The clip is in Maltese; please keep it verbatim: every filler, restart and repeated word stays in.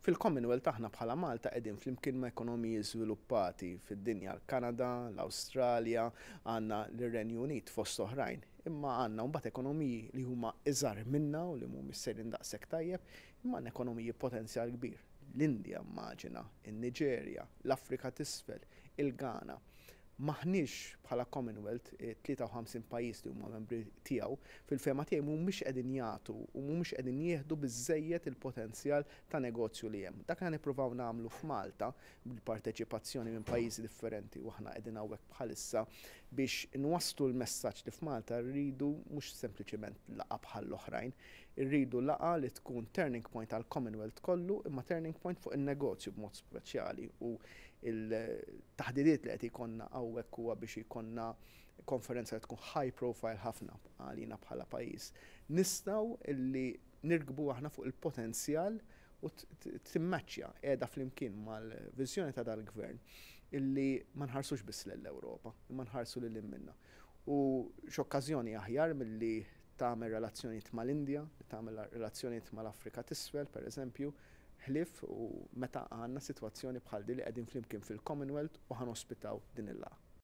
Fil-Commonwealth aħna bħala Malta qegħdin flimkien ma' ekonomiji żviluppati fid-dinja, l-Kanada, l-Awstralja, għandna l-Renju Unit fost oħrajn. Imma għandna mbagħad ekonomiji li huma iżgħar minna u li mhumiex sejrin daqshekk tajjeb, imma għandna ekonomiji potenzjal kbir. L-Indja immaġina, in-Niġerja, l-Afrika t'Isfel, il-Ghana. M'aħniex bħala Commonwealth, tlieta u ħamsin pajjiż li huma membri tiegħu, fil-fehma tiegħi mhumiex qegħdin jagħtu u mhumiex qegħdin jieħdu biżżejjed il-potenzjal ta' negozju li hemm. Dak li nippruvaw nagħmlu f'Malta bil-parteċipazzjoni minn pajjiżi differenti, u aħna qegħdin hawnhekk bħalissa biex nwasslu l-messaġġ li f'Malta rridu mhux sempliċiment laqgħa bħall-oħrajn, irridu laqgħa li tkun turning point għal Commonwealth kollu, imma turning point fuq in-negozju b'mod speċjali. U il-taħdidiet li qed ikollna hawnhekk huwa biex ikollna konferenza li tkun high profile ħafna għalina bħala pajjiż. Nistgħu illi nirkbu aħna fuq il-potenzjal u timmaċċja qiegħda flimkien mal-viżjoni ta' dal-gvern illi ma nħarsux biss lill-Ewropa, imma nħarsu lil minna. U x'okkażjoni aħjar milli tagħmel relazzjonijiet mal-Indja, tagħmel relazzjonijiet mal-Afrika t'Isfel, per eżempju, ħlief u meta għandna sitwazzjoni bħal din li qegħdin flimkien fil-Commonwealth u ħa nospitaw din il-laqgħa.